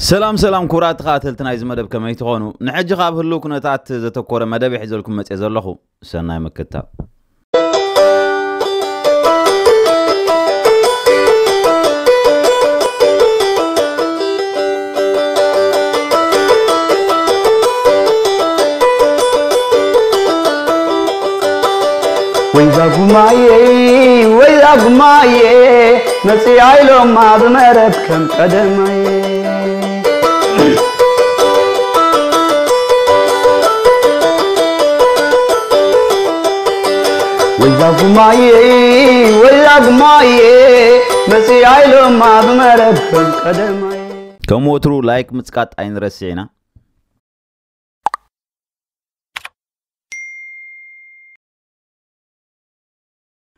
ሰላም ሰላም ክቡራት ተኸታተልቲ ናይዚ መደብ፣ ከመይ ትኾኑ? ንሕጂ ካብ ህልው ኩነታት ዘተኮረ መደብ ሒዘልኩም መጽየ ዘለኹ። ሰናይ ምክትታል። ወይዛ ጉማየ፣ ወይዛ ጉማየ፣ መጽያ ኢሎማ ብመረብ ከም ቀደማየ። ወይዛ ጉማየ፣ ወይዛ ጉማየ፣ መጽያ ኢሎማ ብመረብ ከም ቀደማየ። ከም ወትሩ ላይክ ምጽቃጥ ኣይንረስዕ ኢና።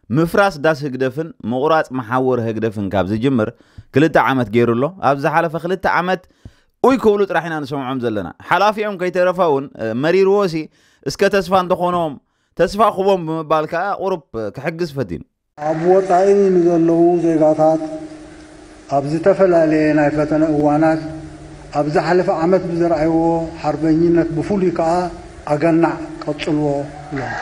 ምፍራስ ዳስ ህግደፍን ምቑራጽ መሓውር ህግደፍን ካብ ዝጅምር ክልተ ዓመት ገይሩ ኣሎ። ኣብ ዝሓለፈ ክልተ ዓመት ኡይ ክብሉ ጥራሕ ኢና ንሰምዖም ዘለና። ሓላፊኦም ከይተረፈ እውን፣ እ፣ መሪርዎ ሲ እስከ ተስፋ እንተኾኖም ተስፋ ክቦም ብምባል ከኣ ቁሩብ፣ እ፣ ክሕግዝ ፈቲኑ። ኣብ ወጻኢ ንዘለዉ ዜጋታት ኣብ ዝተፈላለየ ናይ ፈተነ እዋናት ኣብ ዝሓለፈ ዓመት ብዘርኣይዎ ሓርበኝነት ብፍሉይ ከኣ ኣገናዕ ቀጽልዎ ኢሎም።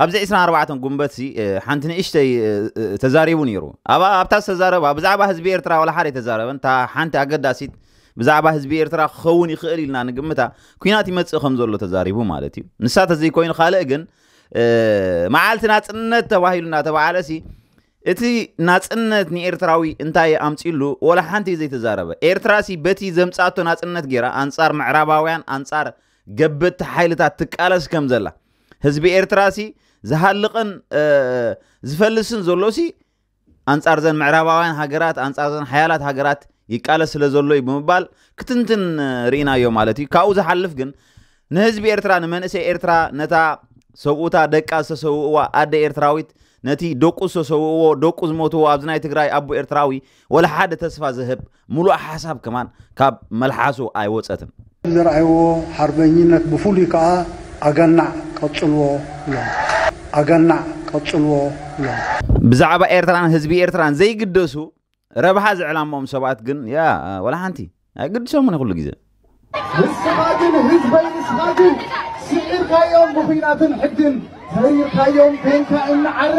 ኣብዚ ዕስራን ኣርባዕተን ጉንበት ሲ፣ እ፣ ሓንቲ ንእሽተይ፣ እ፣ እ፣ ተዛሪቡ ነይሩ። ኣብ፣ ኣብታ ዝተዛረባ ብዛዕባ ህዝቢ ኤርትራ ዋላ ሓደ ኣይተዛረበን። እታ ሓንቲ ኣገዳሲት ብዛዕባ ህዝቢ ኤርትራ ክኸውን ይኽእል ኢልና ንግምታ፣ ኲናት ይመጽእ ከም ዘሎ ተዛሪቡ ማለት እዩ። ንሳ ተዘይኮይኑ ካልእ ግን፣ እ፣ መዓልቲ ናጽነት ተባሂሉ እናተባህለ ሲ፣ እቲ ናጽነት ንኤርትራዊ እንታይ ኣምጺሉ ዋላ ሓንቲ ዘይተዛረበ። ኤርትራ ሲ በቲ ዘምጻቶ ናጽነት ገይራ ኣንጻር ምዕራባውያን፣ ኣንጻር ገበቲ ሓይልታት ትቃለስ ከም ዘላ፣ ህዝቢ ኤርትራ ሲ ዝሃልቕን፣ እ፣ ዝፈልስን ዘሎ ሲ ኣንጻር ዘን ምዕራባውያን ሃገራት፣ ኣንጻር ዘን ሓያላት ሃገራት ይቃለስ ስለ ዘሎ እዩ ብምባል ክትንትን፣ እ፣ ርኢናዮ ማለት እዩ። ካብኡ ዝሓልፍ ግን ንህዝቢ ኤርትራ፣ ንመንእሰይ ኤርትራ፣ ነታ ሰብኡታ ደቃ ዝተሰውእዋ ኣደ ኤርትራዊት፣ ነቲ ደቁ ዝተሰውእዎ፣ ደቁ ዝሞትዎ ኣብዚ ናይ ትግራይ ኣቦ ኤርትራዊ ወላ ሓደ ተስፋ ዝህብ ምሉእ ሓሳብ ከማን ካብ መልሓሱ ኣይወጸትን። ዘርኣይዎ ሓርበኝነት ብፍሉይ ከኣ ኣገናዕ ቀጽልዎ ኢሎም። ኣገናዕ ቀጽልዎ ኢሎም። ብዛዕባ ኤርትራን ህዝቢ ኤርትራን ዘይግደሱ ረብሓ ዝዕላምኦም ሰባት ግን ያ ወላ ሓንቲ ኣይግድሶምን ኩሉ ግዜ። ንስኻ ግን ህዝበይ፣ ንስኻ ግን ስዒርካዮም ብኹናትን ሕግን፣ ፈሪርካዮም ኮይንካ እናዓረ።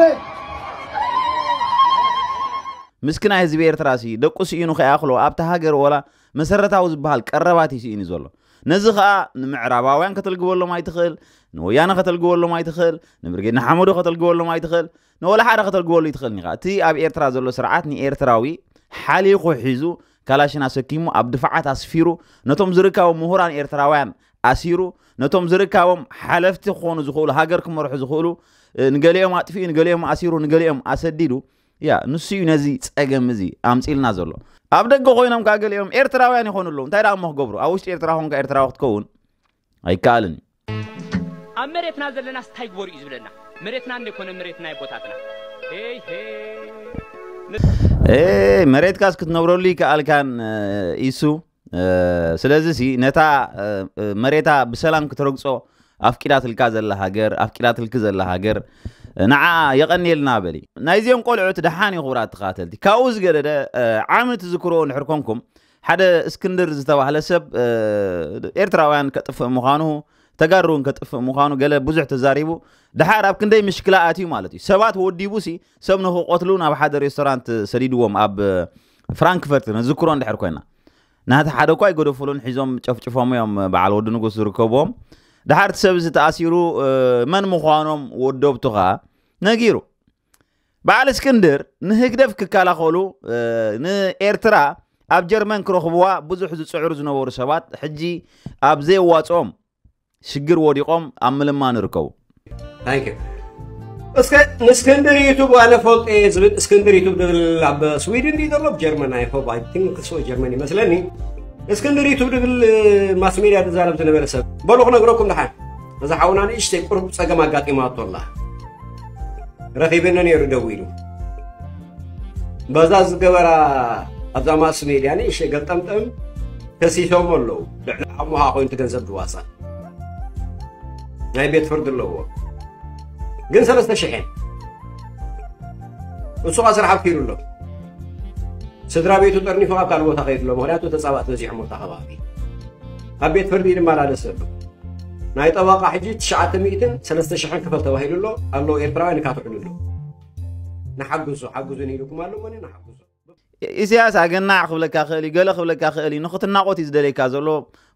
ምስኪናይ ህዝቢ ኤርትራ ሲ ደቁ ስኢኑ ከይኣኽሎ ኣብታ ሃገር ወላ መሰረታዊ ዝበሃል ቀረባት እዩ ስኢኑ ዘሎ። ነዚ ኸኣ ንምዕራባውያን ከተልግበሎም ኣይትኽእል፣ ንወያነ ከተልግበሎም ኣይትኽእል፣ ንብርጌድ ንሓመዱ ከተልግበሎም ኣይትኽእል፣ ንወላ ሓደ ከተልግበሉ ኣይትኽእልን ኢኻ። እቲ ኣብ ኤርትራ ዘሎ ስርዓት ንኤርትራዊ ሓሊኹ ሒዙ ካላሽን ኣሰኪሙ ኣብ ድፋዓት ኣስፊሩ ነቶም ዝርካቡ ምሁራን ኤርትራውያን ኣሲሩ ነቶም ዝርካቦም ሓለፍቲ ክኾኑ ዝኽእሉ ሃገር ክመርሑ ዝኽእሉ፣ እ፣ ንገሊኦም ኣጥፊኡ፣ ንገሊኦም ኣሲሩ፣ ንገሊኦም ኣሰዲዱ። ያ ንሱ እዩ ነዚ ጸገም እዚ ኣምጺልና ዘሎ። ኣብ ደገ ኮይኖም ከኣ ገሊኦም ኤርትራውያን ይኾኑ ኣለዉ። እንታይ ደኣ እሞ ክገብሩ? ኣብ ውሽጢ ኤርትራ ኾንካ ኤርትራዊ ክትከውን ኣይከኣልን እዩ። ኣብ መሬትና ዘለናስ እንታይ ግበሩ እዩ ዝብለና? መሬትና እንደ ኮነ መሬትና ኣቦታትና። ሄይ ሄይ። እ፣ መሬትካስ ክትነብረሉ ይከኣልካን፣ እ፣ ኢሱ። እ፣ ስለዚ ሲ ነታ፣ እ፣ እ፣ መሬታ ብሰላም ክትረግጾ ኣፍቂዳትልካ ዘላ ሃገር፣ ኣፍቂዳትልኪ ዘላ ሃገር፣ እ፣ ንዓ የቐንየልና በሊ። ናይዚኦም ቆልዑት ደሓን እዩ ክቡራት ተኸታተልቲ። ካብኡ ዝገደደ፣ እ፣ ዓሚ ትዝክርዎ እንድሕር ኮንኩም፣ ሓደ እስክንድር ዝተባህለ ሰብ፣ እ፣ ኤርትራውያን ከጥፍእ ምዃኑ፣ ተጋሩ እውን ከጥፍእ ምዃኑ ገለ ብዙሕ ተዛሪቡ። ደሓር ኣብ ክንደይ ምሽክላ ኣትዩ ማለት እዩ። ሰባት ወዲቡ ሲ ሰብ ንኽቆትሉ ናብ ሓደ ሬስቶራንት ሰዲድዎም ኣብ፣ እ፣ ፍራንክፈርት ነዝክሮ እንድሕር ኮይና። ናቲ ሓደ እኳ ኣይገደፉሉን፣ ሒዞም ጨፍጭፎም እዮም በዓል ወዲ ንጉስ ዝርከብዎም። ደሓር እቲ ሰብ እዚ ተኣሲሩ፣ እ፣ መን ምዃኖም ወደብቱ ኸኣ ነጊሩ። በዓል እስክንድር ንህግደፍ ክከላኸሉ፣ እ፣ ንኤርትራ ኣብ ጀርመን ክረኽብዋ ብዙሕ ዝጽዕሩ ዝነበሩ ሰባት ሕጂ ኣብ ዘየዋጽኦም ሽግር ወዲቖም ኣብ ምልማን ይርከቡ። Thank you። እስከ ንእስክንድር ዩቱብ ኣነ ፈልጦ እየ ዝብል እስክንድር ዩቱብ ዝብል ኣብ ስዊድን ድዩ ዘሎ? ኣብ ጀርመን፣ I hope፣ I think so፣ ጀርመን ይመስለኒ። እስክንድር ዩቱብ ዝብል ማስ ሜድያ ዝዛረብ ዝነበረ ሰብ በሉ ክነግረኩም ደሓን። እዛ ሓውና ንእሽተይ ቁሩብ ጸገም ኣጋጢማቶ ኣላ። ረኺበኒ ነይሩ ደዊሉ። በዛ ዝገበራ ኣብዛ ማስ ሜድያ ንእሽተይ ገጠምጠም ከሲሶም ኣለዉ። ልዕሊ ዓቕምኻ ኮይኑ እቲ ገንዘብ ድዋሳ። ናይ ቤት ፍርዲ ኣለዎ። ግን ሰለስተ ሽሕ እየን። እሱ ኸኣ ስራሕ ኣፍቂሩ ኣሎ። ስድራ ቤቱ ጠርኒፉ ካብ ካልእ ቦታ ከይዱ ኣሎ። ምኽንያቱ ተጻባእቲ በዚሖም ኣብታ ከባቢ። ካብ ቤት ፍርዲ ይመላለስ ዘሎ። ናይ ጠበቓ ሕጂ ትሽዓተ ሚእትን ሰለስተ ሽሕን ክፈል ተባሂሉ ኣሎ። ኣለዉ ኤርትራውያን ይካትዑሉ ኣለዉ። ንሓግዞ፣ ሓግዙኒ ኢልኩም ኣሎ፣ እሞ ንሓግዞ። ኢሳያስ ኣገናዕ ክብለካ ክእል እዩ፣ ገለ ክብለካ ክእል እዩ፣ ንኽትናቖት እዩ ዝደልየካ ዘሎ።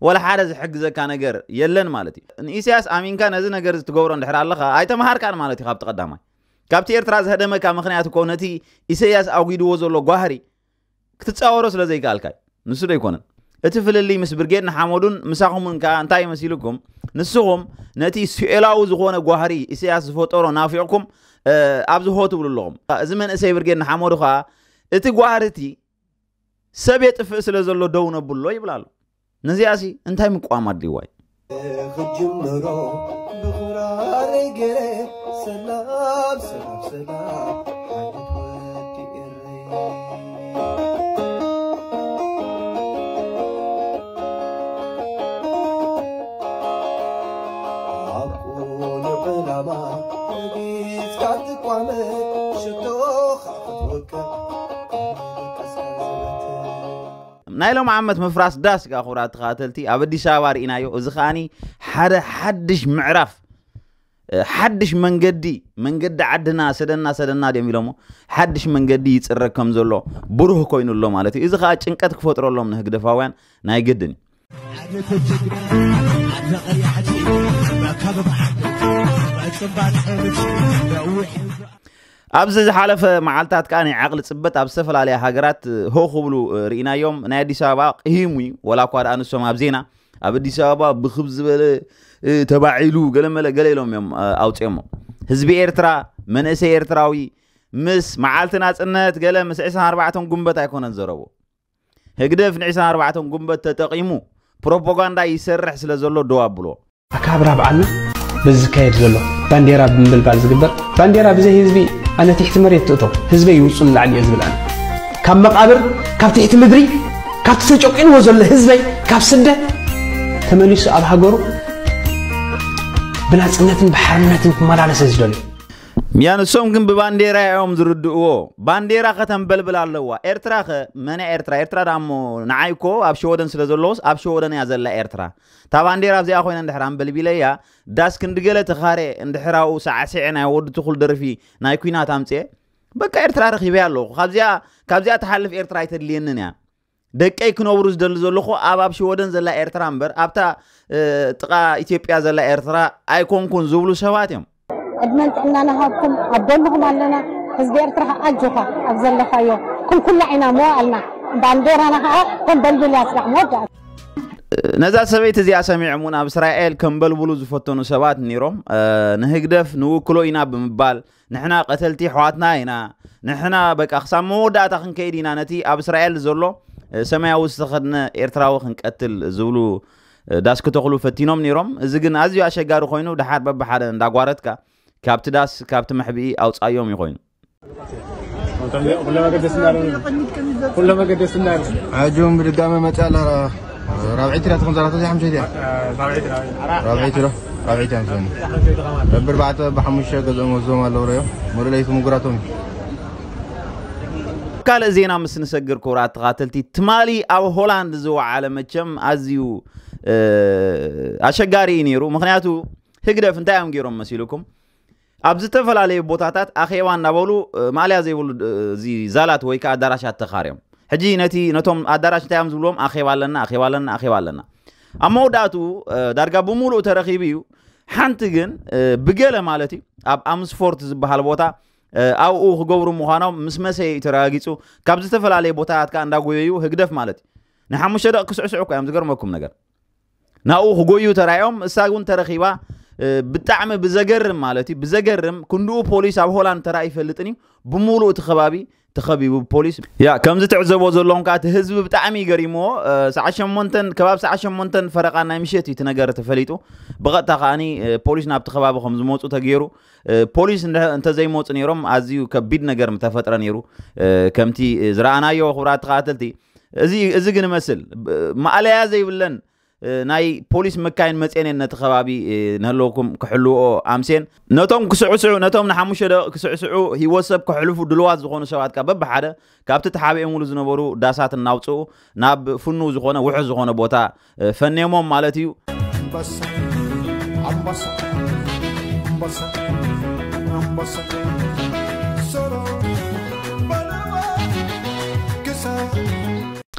ወላ ሓደ ዝሕግዘካ ነገር የለን ማለት እዩ። ንኢሳያስ ኣሚንካ ነዚ ነገር እዚ ትገብሮ እንድሕር ኣለኻ፣ ኣይተምሃርካን ማለት እዩ። ካብቲ ቀዳማይ፣ ካብቲ ኤርትራ ዝህደመካ ምኽንያት እኮ ነቲ ኢሳያስ ኣጒድዎ ዘሎ ጓህሪ ክትጻወሮ ስለ ዘይከኣልካ እዩ። ንሱ ዶ ኣይኮነን? እቲ ፍልልይ ምስ ብርጌድ ንሓመዱን ምሳኹምን ከኣ እንታይ መሲልኩም? ንስኹም ነቲ ስኤላዊ ዝኾነ ጓህሪ ኢሳያስ ዝፈጠሮ ናፊቕኩም፣ እ፣ ኣብዚ ሆ ትብሉ ኣለኹም። እዚ መንእሰይ ብርጌድ ንሓመዱ ከኣ እቲ ጓህሪ እቲ ሰብ የጥፍእ ስለ ዘሎ ደው ነብሎ ይብል ኣሎ። ነዚኣሲ እንታይ ምቋም ኣድልይዋ እዩ? ክጅምሮ ብኽራረይ ገይረ ሰላም፣ ሰላም፣ ሰላም፣ ዓይነት ወዲ ኤረይ። ኣብ ቁኑዕ ዕላማ ረጊጽካ ትቋመ፣ ሽቶኻ ክትወቅዕ፣ ቀስካ ዝበትር። ናይ ሎም ዓመት ምፍራስ ዳስ ከኣ ክቡራት ተኸታተልቲ ኣብ ኣዲስ ኣበባ ርኢናዮ። እዚ ከኣኒ ሓደ ሓድሽ ምዕራፍ፣ እ፣ ሓድሽ መንገዲ፣ መንገዲ ዓድና ሰደና ሰደና ድዮም ኢሎሞ፣ ሓድሽ መንገዲ ይጽረግ ከም ዘሎ ብሩህ ኮይኑ ኣሎ ማለት እዩ። እዚ ከኣ ጭንቀት ክፈጥረሎም ንህግደፋውያን ናይ ግድን እዩ። ኣብዚ ዝሓለፈ መዓልታት ከኣ ናይ ዓቕሊ ጽበት ኣብ ዝተፈላለያ ሃገራት ሆ ክብሉ ርኢናዮም። ናይ ኣዲስ ኣበባ ቅሂሙ እዩ፣ ወላ እኳ ደኣ ንሶም ኣብ ዜና ኣብ ኣዲስ ኣበባ ብኽብ ዝበለ፣ እ፣ ተባዒሉ ገለመለ ገለ ኢሎም እዮም፣ እ፣ ኣውፅኦሞ። ህዝቢ ኤርትራ፣ መንእሰይ ኤርትራዊ ምስ መዓልቲ ናጽነት ገለ ምስ ዕስራን ኣርባዕተን ጉንበት ኣይኮነን ዘረቦ። ህግደፍ ንዕስራን ኣርባዕተን ጉንበት ተጠቒሙ ፕሮፓጋንዳ ይሰርሕ ስለ ዘሎ ደው ኣብሎ። ኣከባብራ በዓልና በዚ ዝካየድ ዘሎ ባንዴራ ብምብልባል ዝግበር፣ ባንዴራ ብዘይ ህዝቢ ኣነ ትሕቲ መሬት ትእቶ፣ ህዝበይ ይውጹ ንላዕሊ እየ ዝብል ኣነ። ካብ መቓብር፣ ካብ ትሕቲ ምድሪ፣ ካብቲ ተጨቂንዎ ዘሎ ህዝበይ ካብ ስደት ተመሊሱ ኣብ ሃገሩ ብናጽነትን ብሓርነትን ክመላለስ እየ ዝደልዮ። ያ ንሶም ግን ብባንዴራ እዮም ዝርድእዎ። ባንዴራ ከተንበልብል ኣለዋ። ኤርትራ ኸ መን እያ ኤርትራ? ኤርትራ ደኣ እሞ ንዓይ እኮ ኣብ ሸወደን ስለ ዘለዎስ ኣብ ሸወደን እያ ዘላ ኤርትራ። እታ ባንዴራ ኣብዚኣ ኮይነ እንድሕር ኣንበልቢለያ፣ ዳስ ክንዲ ገለ ተኻሬ እንድሕር ኣብኡ ሳዕሲዐ ናይ ወዲ ትኹል ደርፊ ናይ ኲናት ኣምጽኤ፣ በቃ ኤርትራ ረኺበያ ኣለኹ። ካብዚኣ፣ ካብዚኣ ትሓልፍ ኤርትራ ኣይተድልየንን እያ። ደቀይ ክነብሩ ዝደሊ ዘለኹ ኣብ፣ ኣብ ሽወደን ዘላ ኤርትራ እምበር ኣብታ፣ እ፣ ጥቓ ኢትዮጵያ ዘላ ኤርትራ ኣይኮንኩን ዝብሉ ሰባት እዮም። ዕድመን ጥዕናን ሃብኩም ኣብ ጎንኹም ኣለና። ህዝቢ ኤርትራ ኣጆኻ ኣብ ዘለኻዮ ክንኩላዕ ኢና መዋእልና። ባንዴራና ኸዓ ተንበልብል እያ ስራሕ መወዳእታ። ነዛ ሰበይቲ እዚኣ ሰሚዖም እውን ኣብ እስራኤል ከንበልብሉ ዝፈተኑ ሰባት ነይሮም። እ፣ ንህግደፍ ንውክሎ ኢና ብምባል ንሕና ቀተልቲ ኣሕዋትና ኢና፣ ንሕና በቃ ክሳብ መወዳእታ ክንከይድ ኢና፣ ነቲ ኣብ እስራኤል ዘሎ፣ እ፣ ሰማያዊ ዝተኸድነ ኤርትራዊ ክንቀትል ዝብሉ፣ እ፣ ዳስ ክተኽሉ ፈቲኖም ነይሮም። እዚ ግን ኣዝዩ ኣሸጋሪ ኮይኑ፣ ደሓር በብሓደ እንዳጓረትካ ካብቲ ዳስ፣ ካብቲ መሕብኢ ኣውጻዮም እዩ ኮይኑ። ኩሎም ኣገደስቲ እንዳበሉ፣ ኩሎም ኣገደስቲ እንዳበሉ። ሕጂ እውን ብድጋመ መጽኣ ኣላ። ራብዐይቲ ድያ ትኾን? ዛላታ እዚኣ ሓሙሻይቲ እያ። ራብዐይቲ፣ ራብዐይቲ። ራብዐይቲ ዶ? ራብዐይቲ እያ መስለኒ። በብኣርባዕተ፣ በብሓሙሽተ ገዝኦም ወስዶም ኣለዉ፣ ርእዮም። ምሉእ ለይቲ ምጉራቶም እዩ። ካልእ ዜና ምስ ንሰግር፣ ክቡራት ተኻተልቲ፣ ትማሊ ኣብ ሆላንድ ዝወዓለ መቸም ኣዝዩ፣ እ፣ ኣሸጋሪ እዩ ነይሩ። ምኽንያቱ ህግደፍ እንታይ እዮም ገይሮም መሲልኩም? ኣብ ዝተፈላለዩ ቦታታት ኣኼባ እናበሉ፣ እ፣ ማእለያ ዘይብሉ፣ እ፣ እዚ ዛላት ወይ ከዓ ኣዳራሻት ተኻርዮም። ሕጂ ነቲ፣ ነቶም ኣዳራሽ እንታይ እዮም ዝብልዎም? ኣኼባ ኣለና፣ ኣኼባ ኣለና፣ ኣኼባ ኣለና። ኣብ መወዳእትኡ፣ እ፣ ዳርጋ ብምሉእ ተረኺቡ እዩ። ሓንቲ ግን፣ እ፣ ብገለ ማለት እዩ፣ ኣብ ኣምስፎርት ዝበሃል ቦታ፣ እ፣ ኣብኡ ክገብሩ ምዃኖም ምስ መሰየ እዩ ተረጋጊጹ። ካብ ዝተፈላለየ ቦታታት ከዓ እንዳጎየዩ ህግደፍ ማለት እዩ። ንሓሙሽተ ደቂ ክስዕስዑ እኮ እዮም፣ ዝገርመኩም ነገር። ናብኡ ክጎዩ ተራእዮም፣ እሳ እውን ተረኺባ፣ እ፣ ብጣዕሚ ብዘገርም ማለት እዩ፣ ብዘገርም ክንድኡ ፖሊስ ኣብ ሆላንድ ተራእዩ ይፈልጥን እዩ። ብምሉእ እቲ ከባቢ ተኸቢቡ ብፖሊስ። ያ፣ ከምዚ ትዕዘቦ ዘለኹም ከኣ እቲ ህዝቢ ብጣዕሚ እዩ ገሪምዎ። እ፣ ሰዓት ሸሞንተን፣ ከባቢ ሰዓት ሸሞንተን ፈረቓ ናይ ምሸት እዩ እቲ ነገር ተፈሊጡ። ብቐጥታ ከኣኒ፣ እ፣ ፖሊስ ናብቲ ከባቢ ከም ዝመጹ ተገይሩ። እ፣ ፖሊስ እንደ-፣ እንተዘይመጹ ነይሮም ኣዝዩ ከቢድ ነገር ምተፈጥረ ነይሩ። እ፣ ከምቲ፣ እ፣ ዝረኣናዮ ክቡራት ተኸታተልቲ፣ እዚ፣ እዚ ግን ይመስል፣ ብ-፣ ማእለያ ዘይብለን ናይ ፖሊስ መካይን መፅኤን ነቲ ከባቢ ንህለውኩም ክሕልዎ ኣምሴን ነቶም ክስዕስዑ ነቶም ንሓሙሽተ ደቂቕ ክስዕስዑ ህይወት ሰብ ክሕልፉ ድልዋት ዝኾኑ ሰባት ካብ በብሓደ ካብቲ ተሓቢኦምሉ ዝነበሩ ዳሳት እናውፅኡ ናብ ፍኑ ዝኾነ ውሑስ ዝኾነ ቦታ ፈኔሞም ማለት እዩ።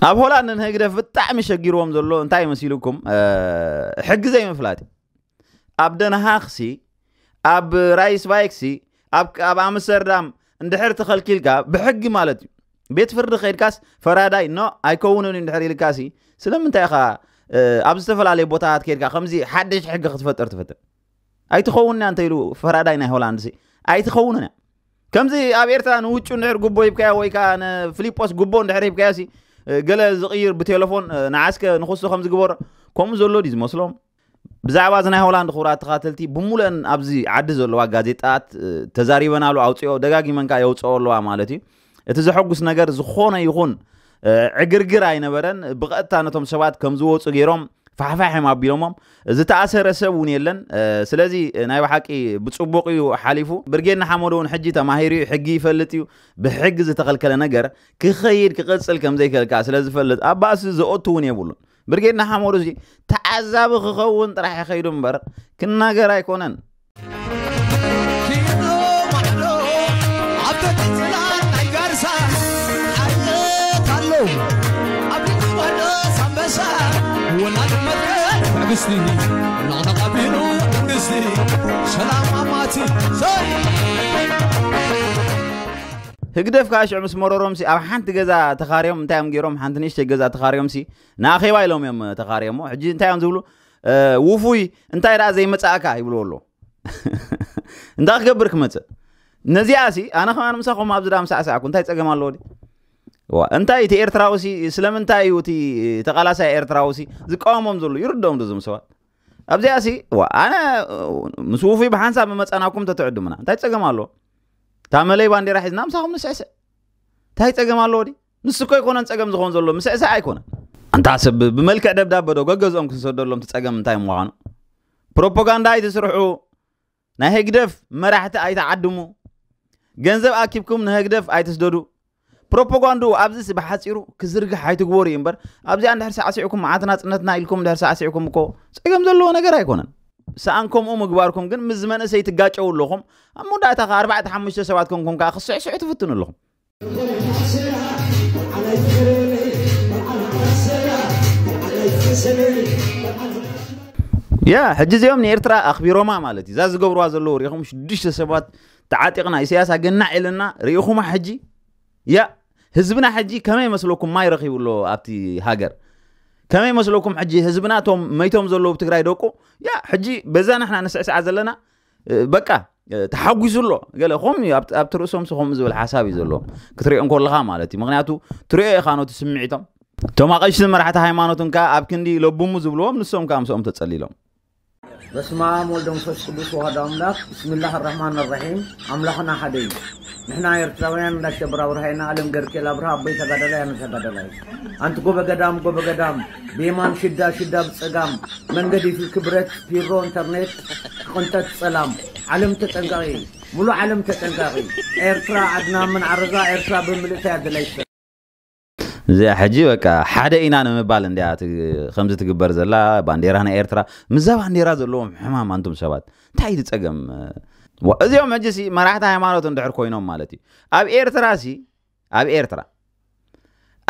ኣብ ሆላንድ ንህግደፍ ብጣዕሚ ሸጊርዎም ዘሎ እንታይ መሲሉኩም ሕጊ ዘይምፍላጥ እዩ። ኣብ ደንሃክሲ ኣብ ራይስቫይክሲ ኣብ ኣምስተርዳም እንድሕር ተኸልኪልካ ብሕጊ ማለት እዩ። ቤት ፍርዲ ከይድካስ ፈራዳይ ኖ ኣይከውንን እዩ እንድሕር ኢልካሲ ስለምንታይ ኢኻ ኣብ ዝተፈላለየ ቦታታት ከይድካ ከምዚ ሓደሽ ሕጊ ክትፈጥር ትፈትን? ኣይትኸውን እያ እንተ ኢሉ ፈራዳይ ናይ ሆላንድ ሲ ኣይትኸውንን እያ። ከምዚ ኣብ ኤርትራ ንውጩ እንድሕር ጉቦ ሂብካዮ ወይ ከዓ ንፍሊጶስ ጉቦ እንድሕር ሂብካዮ ሲ ገለ ዝቕይር ብቴሌፎን ንዓስከ ንክሱ ከም ዝግበሮ ከምኡ ዘሎ ድዩ ዝመስሎም? ብዛዕባ እዚ ናይ ሆላንድ ክቡራት ተኻተልቲ ብሙሉአን ኣብዚ ዓዲ ዘለዋ ጋዜጣት ተዛሪበናሉ ኣውፅኦ ደጋጊመንካ የውፅኦ ኣለዋ ማለት እዩ። እቲ ዘሐጉስ ነገር ዝኾነ ይኹን ዕግርግር ኣይነበረን። ብቐጥታ ነቶም ሰባት ከም ዝወፁ ገይሮም ፋሕፋሕ እዮም ኣቢሎሞም። ዝተኣሰረ ሰብ እውን የለን። ስለዚ ናይ ብሓቂ ብፅቡቕ እዩ ሓሊፉ። ብርጌድ ንሓመዱ እውን ሕጂ ተማሂሩ እዩ፣ ሕጊ ይፈልጥ እዩ። ብሕጊ ዝተኸልከለ ነገር ክኸይድ ክቐፅል ከም ዘይከልካ ስለ ዝፈልጥ ኣብ ባእሲ ዘኦቱ እውን የብሉን። ብርጌድ ንሓመዱ እዚ ተዓዛቢ ክኸውን ጥራሕ ይኸይዱ እምበር ክናገር ኣይኮነን። ህግደፍ ከዓ ሽዑ ምስ መረሮምሲ ኣብ ሓንቲ ገዛ ተኻርዮም እንታይ እዮም ገይሮም ሓንቲ ንእሽተይ ገዛ ተኻርዮምሲ ንኣኼባ ኢሎም እዮም ተኻርዮሞ። ሕጂ እንታይ እዮም ዝብሉ? ውፉይ እንታይ ደኣ ዘይመጻእካ ይብልዎ ኣሎ። እንታይ ክገብር ክመጽእ? ነዚኣ ሲ ኣነ ከማን ምሳኹም ኣብዚ ዳ ምሳዕሳዕኩ እንታይ ጸገም ኣለዎ ድዩ? ዋ እንታይ እቲ ኤርትራዊ ሲ ስለምንታይ እዩ እቲ ተቓላሳይ ኤርትራዊ ሲ ዝቃወሞም ዘሎ ይርድኦም ዶ እዞም ሰባት? ኣብዚኣ ሲ ዋ ኣነ ምስ ውፉይ ብሓንሳብ መመጻናኩም ተትዕድሙና እንታይ ጸገም ኣለዎ? እታ መለይ ባንዴራ ሒዝና ምሳኹም ንስዕስዕ እንታይ ጸገም ኣለዎ ድዩ? ንሱ እኮ ኣይኮነን ጸገም ዝኾን ዘሎ ምስዕሳዕ ኣይኮነን። ኣንታ ሰብ ብመልክዕ ደብዳበ ዶ ገገዝኦም ክትሰደሎም ትጸገም እንታይ ምዃኑ ፕሮፓጋንዳ ኣይትስርሑ። ናይ ህግደፍ መራሕቲ ኣይትዓድሙ። ገንዘብ ኣኪብኩም ንህግደፍ ኣይትስደዱ። ፕሮፓጋንድኡ ኣብዚስ ብሓጺሩ ክዝርግሕ ኣይትግበሩ እዩ እምበር ኣብዚኣ እንድሕር ሳዕሲዕኩም መዓት ናጽነትና ኢልኩም እንድሕር ሳዕሲዕኩም እኮ ጸገም ዘለዎ ነገር ኣይኮነን። ሰኣን ከምኡ ምግባርኩም ግን ምስ መንእሰይ ትጋጨው ኣለኹም። ኣብ መወዳእታ ከ ኣርባዕተ ሓሙሽተ ሰባት ኮንኩም ከኣ ክስዕስዑ ትፍትኑ ኣለኹም። ያ ሕጂ እዚኦም ንኤርትራ ኣኽቢሮማ ማለት እዩ። እዛ ዝገብርዋ ዘለዉ ሪኢኹም ሽዱሽተ ሰባት ተዓጢቕና ኢሳያስ ኣገናዕ ኢልና ሪኢኹማ ሕጂ ያ ህዝብና ሕጂ ከመይ መስለኩም ማይ ረኺቡ ኣሎ ኣብቲ ሃገር ከመይ መስለኩም ሕጂ ህዝብና እቶም መይቶም ዘለዉ ትግራይ ደቁ ያ ሕጂ በዛ ንሕና ንስዕስዓ ዘለና በቃ ተሓጒሱ ኣሎ ገለ ከምኡ ኣብቲ ርእሶም ሲ ከምኡ ዝብል ሓሳብ እዩ ዘለዎም ክትሪኦ እንከለኻ ማለት እዩ ምክንያቱ ትሪኦ ኢኻ ነቲ ስምዒቶም እቶም ኣቐሽቲ መራሕቲ ሃይማኖት እንካ ኣብ ክንዲ ለቡሙ ዝብልዎም ንሶም ከዓ ምስኦም ተጸሊሎም በስመ አብ ወልድ መንፈስ ቅዱስ ወሃዶ አምላክ ብስምላህ ራህማን ራሒም አምላክና ሓደ እዩ ንሕና ኤርትራውያን እንዳሸብር አብርሃ ኢና አለም ገርኬል አብርሃ አቦይ ተጋዳላይ አነ ተጋዳላይ አንቲ ጎበ ገዳም ጎበ ገዳም ብየማን ሽዳ ሽዳ ብጸጋም መንገድ ይፍልክ ብረት ፒሮ ኢንተርኔት ክቕንጠት ጸላም ዓለም ተጠንቀቒ ሙሉ ዓለም ተጠንቀቒ ኤርትራ ዓድና ምን ዓረዛ ኤርትራ ብምልእታ ያደላይ እዚኣ ሕጂ በቃ ሓደ ኢና ንምባል እንዲያ ከምዚ ትግበር ዘላ ባንዴራ ናይ ኤርትራ ምዛ ባንዴራ ዘለዎም ሕማም ኣንቱም ሰባት እንታይ እዩ ጸገም እዚኦም ሕጂ ሲ መራሕቲ ሃይማኖት እንድሕር ኮይኖም ማለት እዩ ኣብ ኤርትራ ሲ ኣብ ኤርትራ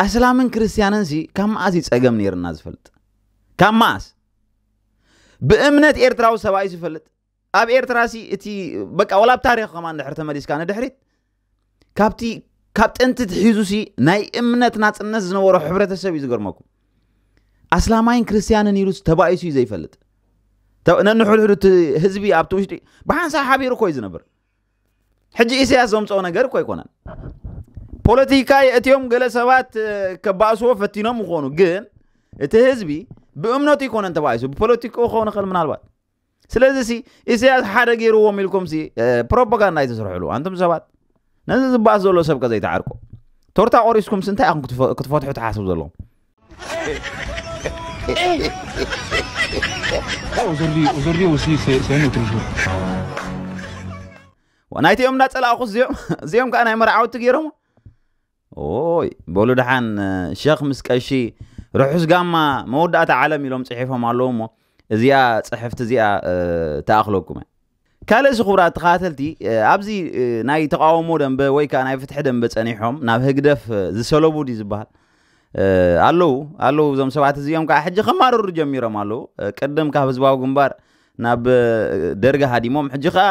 ኣስላምን ክርስትያንን ሲ ካብ መኣስ እዩ ጸገም ነይርና ዝፈልጥ ካብ መኣስ ብእምነት ኤርትራዊ ሰብኣይ ዝፈልጥ ኣብ ኤርትራ ሲ እቲ በቃ ወላ ኣብ ታሪኽ ከማን ድሕር ተመሊስካ ንድሕሪት ካብቲ ካብ ጥንቲ ትሒዙ ሲ ናይ እምነት ናጽነት ዝነበሮ ሕብረተሰብ እዩ ዝገርመኩም ኣስላማይን ክርስትያንን ኢሉ ተባኢሱ እዩ ዘይፈልጥ ነንሕድሕዱ እቲ ህዝቢ ኣብቲ ውሽጢ ብሓንሳብ ሓቢሩ እኮ እዩ ዝነብር ሕጂ ኢሳያስ ዘምፅኦ ነገር እኮ ኣይኮነን ፖለቲካ የእትዮም ገለ ሰባት ከባእስዎ ፈቲኖም ይኾኑ ግን እቲ ህዝቢ ብእምነቱ ይኮነን ተባኢሱ ብፖለቲክኡ ክኸውን ይኽእል ምናልባት ስለዚ ሲ ኢሳያስ ሓደ ገይርዎም ኢልኩም ሲ ፕሮፓጋንዳ ኣይትስርሕሉ ኣንቱም ሰባት ነዚ ዝበኣስ ዘሎ ሰብ ከዘይትዓርቁ ቶርታ ቆሪስኩም ሲ እንታይ ኢኹም ክትፈትሑ ትሓስቡ ዘለኹም Aujourd'hui, aujourd'hui aussi, c'est c'est un autre jour. ናይቲኦም እንዳፀላእኹ እዚኦም እዚኦም ከዓ ናይ መርዓውቲ ገይሮም። ኦይ በሉ ደሓን፣ ሸኽ ምስ ቀሺ ርሑስ ጋማ መወዳእታ ዓለም ኢሎም ፅሒፎም ኣለዉ እሞ፣ እዚኣ ፅሕፍቲ እዚኣ ትኣኽለኩም እያ። ካልእ ሲ ክቡራት ተኸታተልቲ፣ ኣብዚ ናይ ተቃውሞ ደንበ ወይ ከዓ ናይ ፍትሒ ደንበ ፀኒሖም ናብ ህግደፍ ዝሰለቡ ድዩ ዝበሃል? ኣለዉ ኣለዉ። እዞም ሰባት እዚኦም ከዓ ሕጂ ከማርሩ ጀሚሮም ኣለዉ። ቅድም ካብ ህዝባዊ ግንባር ናብ ደርጊ ሃዲሞም፣ ሕጂ ከዓ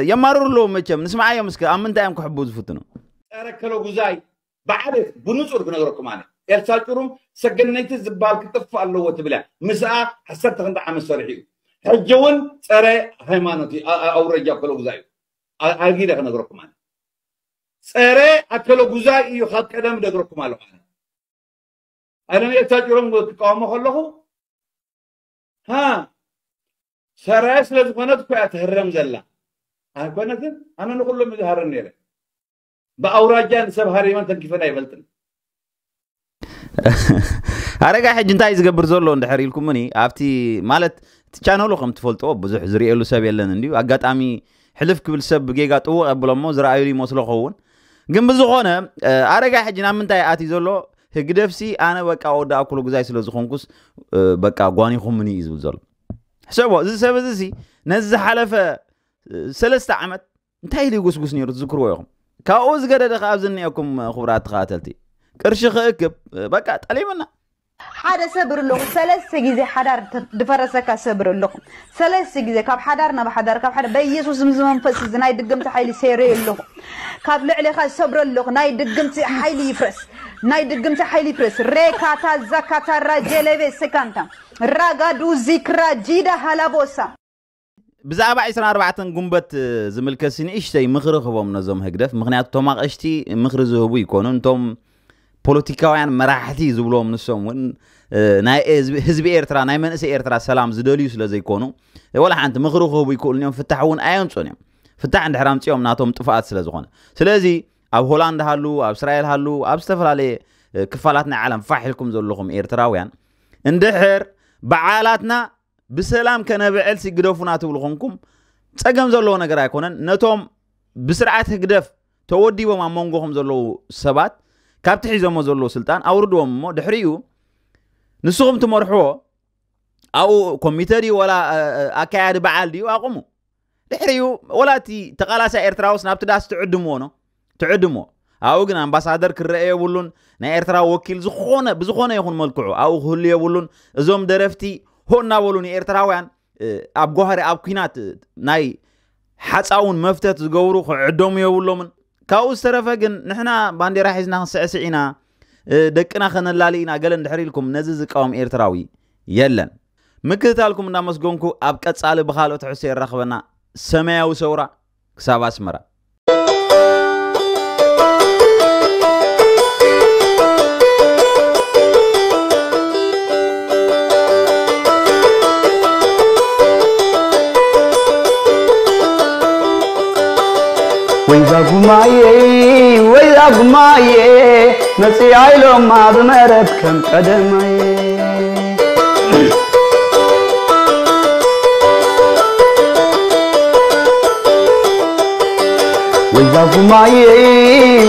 የማርሩ ኣለዉ። መቸም ንስማዓዮም እስከ ኣብ ምንታይ እዮም ክሕቡ ዝፍትኑ? ጸረ ከለጉዛይ ብዓል ብንጹር ክነግረኩም ኣነ ኤልሳ ጭሩም ሰገነይቲ ዝበሃል ክጥፍ ኣለዎ ትብል እያ። ምስኣ ዓሰርተ ክንዲ ዓመት ሰሪሑ እዩ። ሕጂ እውን ጸረ ሃይማኖት እዩ። ኣ- ኣ- ኣውረጃ ከለጉዛይ እዩ። ኣ- ኣጊደ ክነግረኩም ኣነ ጸረ ኣከለጉዛይ እዩ። ካብ ቀደም ደግረኩም ኣለኹ ኣነ ኣለም ኤልሳ ጭሩም ክቃወሞ ከለኹ ሃ ሰራየ ስለ ዝኾነት እኮ እያ ትህረም ዘላ። ኣይኮነትን? ኣነ ንኩሎም እዩ ዝሃረም ነይረ። ብኣውራጃ ንሰብ ሃሪመን ተንኪፈን ኣይፈልጥን። ኣረጋ ሕጂ እንታይ ዝገብር ዘሎ እንድሕር ኢልኩምኒ፣ ኣብቲ ማለት እቲ ቻነሉ ከም ትፈልጥዎ ብዙሕ ዝርእየሉ ሰብ የለን እንድዩ። ኣጋጣሚ ሕልፍ ክብል ሰብ ብጌጋ ጥውቕ ኣብሎሞ ዝረኣዩሉ ይመስሎ ኸውን። ግን ብዝኾነ ኣረጋ ሕጂ ናብ ምንታይ ኣትዩ ዘሎ? ህግደፍሲ ኣነ በቃ ወዲ ኣኩሉ ግዛይ ስለ ዝኾንኩስ በቃ ጓኒኹምኒ እዩ ዝብል ዘሎ። ሕሰቦ፣ እዚ ሰብ እዚ ሲ ነዚ ዝሓለፈ ሰለስተ ዓመት እንታይ ኢሉ ይጉስጉስ ነይሩ ትዝክርዎ ኢኹም። ካብኡ ዝገደደ ከ ኣብዚ እኒአኩም ክቡራት ተኸታተልቲ፣ ቅርሺ ክእክብ በቃ ጠሊምና። ሓደ ሰብር ኣለኹ ሰለስተ ግዜ ሓዳር ድፈረሰካ ሰብር ኣለኹ። ሰለስተ ግዜ ካብ ሓዳር ናብ ሓዳር ካብ ሓዳር በኢየሱስ ምስ መንፈስ እዚ ናይ ድግምቲ ሓይሊ ሰይረዮ ኣለኹ። ካብ ልዕሌኻ ሰብር ኣለኹ። ናይ ድግምቲ ሓይሊ ይፍረስ። ናይ ድግምቲ ሓይሊ ይፍረስ። ሬካታ ዛካታ ራጀለቤ ስካንታ ራጋዱ ዚክራ ጂዳ ሃላቦሳ ብዛዕባ ዕስራን ኣርባዕተን ጉንበት ዝምልከት ንእሽተይ ምኽሪ ክቦም ነዞም ህግደፍ። ምክንያቱ እቶም ኣቕሽቲ ምኽሪ ዝህቡ ይኮኑ። እንቶም ፖለቲካውያን መራሕቲ ዝብሎም ንሶም እውን ናይ ህዝቢ ኤርትራ ናይ መንእሰይ ኤርትራ ሰላም ዝደልዩ ስለ ዘይኮኑ ወላ ሓንቲ ምኽሪ ክህቡ ይክእሉ እዮም። ፍታሕ እውን ኣየምፁን እዮም። ፍታሕ እንድሕር ኣምፅኦም ናቶም ጥፍኣት ስለ ዝኾነ። ስለዚ ኣብ ሆላንድ ሃሉ፣ ኣብ እስራኤል ሃሉ፣ ኣብ ዝተፈላለየ ክፋላት ናይ ዓለም ፋሕ ኢልኩም ዘለኹም ኤርትራውያን እንድሕር በዓላትና ብሰላም ከነብዕል ሲግደፉና ትብሉ ኮንኩም ጸገም ዘለዎ ነገር ኣይኮነን። ነቶም ብስርዓት ህግደፍ ተወዲቦም ኣብ መንጎኹም ዘለዉ ሰባት ካብቲ ሒዞሞ ዘለዉ ስልጣን ኣውርድዎም እሞ ድሕሪኡ ንስኹም ትመርሕዎ ኣብኡ ኮሚተ ድዩ ወላ ኣካያዲ በዓል ድዩ ኣቑሙ። ድሕሪኡ ወላ እቲ ተቓላሳይ ኤርትራውስ ናብቲ ዳስ ትዕድምዎ ኖ ትዕድሞ ኣብኡ ግን ኣምባሳደር ክረአ የብሉን። ናይ ኤርትራ ወኪል ዝኾነ ብዝኾነ ይኹን መልክዑ ኣብኡ ክህሉ የብሉን። እዞም ደረፍቲ ሆ እናበሉ ንኤርትራውያን ኣብ ጓህሪ ኣብ ኲናት ናይ ሓፃውን መፍተት ዝገብሩ ክዕደሙ የብሎምን። ካብኡ ዝተረፈ ግን ንሕና ባንዴራ ሒዝና ክንስዕስዕ ኢና፣ ደቅና ከነላሊ ኢና ገለ እንድሕር ኢልኩም ነዚ ዝቃወም ኤርትራዊ የለን። ምክትታልኩም እንዳመስገንኩ ኣብ ቀፃሊ ብካልኦ ትሕዝቶ የራኽበና። ሰማያዊ ሰውራ ክሳብ ኣስመራ። ወይዛ ጉማየ ወይዛ ጉማየ መፅኣ ኢሎማ ብመረብ ከም ቀደማየ ወይዛ ጉማየ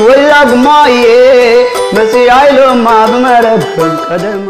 ወይዛ ጉማየ መፅኣ ኢሎማ ብመረብ ከም ቀደማ